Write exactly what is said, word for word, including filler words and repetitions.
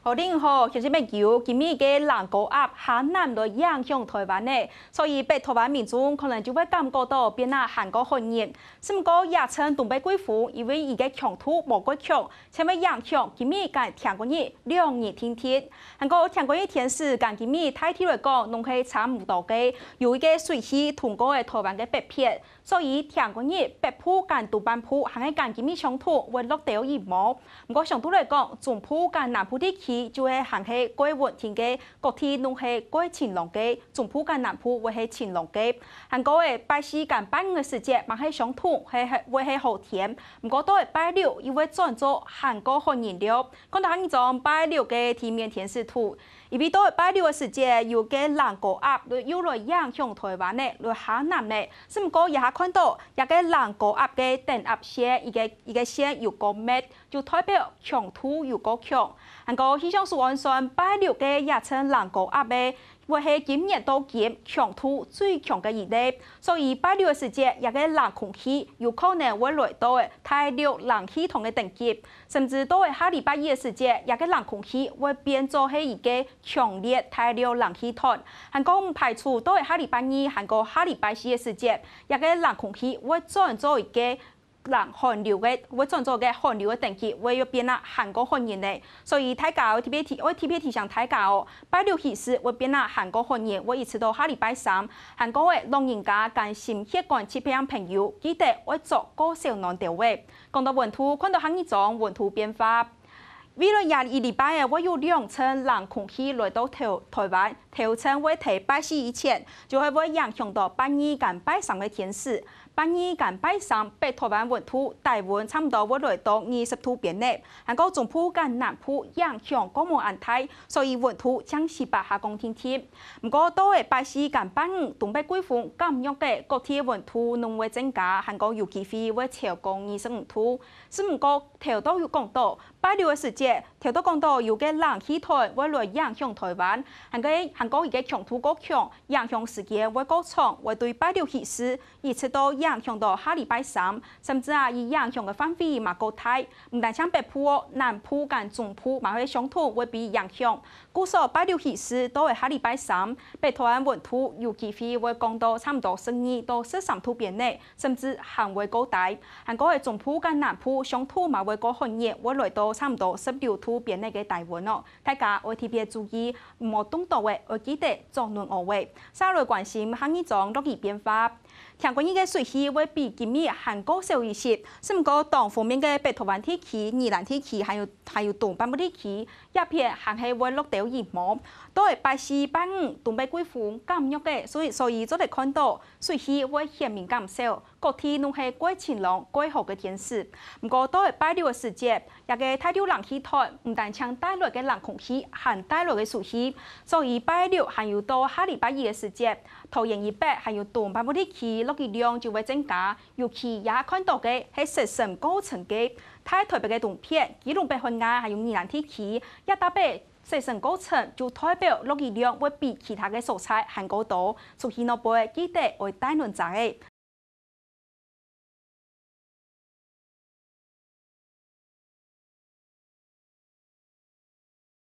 好，恁好，鄉親朋友，今晡日个冷高壓下南來影響臺灣呢，所以北臺灣民眾可能就會感覺到變啊寒過寒人。只毋過這陣東北季風，因為佢个強度無過強，正會影響今晡日佮聽過日兩日定定。還過聽過日天時，佮今晡日大體來講，攏係差毋多个，有一个水氣通過个臺灣个北片。 所以聽過日北部佮東半部還係佮今晡日相同，會落兜雨毛。毋過相對來講，中部佮南部地區就係還係較穩定个，各地攏係較晴朗个，中部佮南部會係晴朗个。還過欸，拜四佮拜五个時節，嘛係相同，係係會係好天。毋過到欸拜六又會轉做寒過寒人了。看到下一張拜六个地面天時圖， 因為到拜六个時節，有个冷高壓又來影響臺灣呢，來下南呢。只毋過這下看到，這个冷高壓个等壓線，一个一个線有過密，就代表強度有過強。還過氣象署按算，拜六个這陣冷高壓个，會係今年到今強度最強个一例。 所以拜六个時節，這个冷空氣有可能會來到欸大陸冷氣團个等級，甚至到欸下禮拜一个時節，這个冷空氣會變做係一个強烈大陸冷氣團。還過毋排除到欸下禮拜二，還過下禮拜四个時節，這个冷空氣會轉做一个冷寒流个，會轉做个寒流个等級，會又變啊寒過寒人呢。所以大家愛特別提，愛特別提醒大家哦， 拜六起勢會變啊寒過寒人，會一直到下禮拜三。還過欸，老人家佮心血管疾病朋友，記得愛著過燒暖兜仔。講到溫度，看到下一張溫度變化。未來這一禮拜欸，會有兩陣冷空氣來到臺臺灣，頭陣會在拜四以前，就係會影響到拜二佮拜三个天時。 拜二佮拜三，北臺灣溫度低溫差毋多會來到二十度邊呢，還過中部佮南部影響過無恁大，所以溫度正時把下降定定。毋過到欸拜四佮拜五，東北季風減弱个，各地个溫度攏會增加，還過有機會會超過二十五度。只毋過頭到有講到，拜六个時節，頭到講到有个冷氣團會來影響臺灣，還過還過佢个強度過強，影響時間會過長，會對拜六起勢， 一直到影響到下禮拜三，甚至啊，佢影響个範圍嘛過大。毋單淨北部哦，南部佮中部嘛會相同會被影響。故所拜六起勢到欸下禮拜三，北臺灣溫度有機會會降到差毋多十二到十三度邊呢，甚至還會過低。還過欸中部佮南部相同嘛會過寒熱，會來到差毋多十六度邊呢个低溫哦。大家愛特別注意，毋好凍著欸，愛記得著暖襖仔。續來關心下一張落雨變化。 聽過日个水氣會比今晡日還過少一息，只毋過當鋒面个北臺灣地區、宜蘭地區，還有還有東半部地區，這片還係會落兜雨毛。到欸拜四、拜五，東北季風減弱个，所以所以做得看到水氣會顯明減少，各地攏係較晴朗、較好个天時。毋過到欸拜六个時節， 這个大陸冷氣團毋單淨帶來个冷空氣，還帶來个水氣，所以拜六還有到下禮拜一个時節，桃園以北還有東半部地區落雨量就會增加，尤其這下看到个係雪深過深个，大臺北个東片、基隆北海岸還有宜蘭地區，這搭北雪深過深就代表落雨量會比其他个所在還過多，出去外背記得愛帶暖遮仔。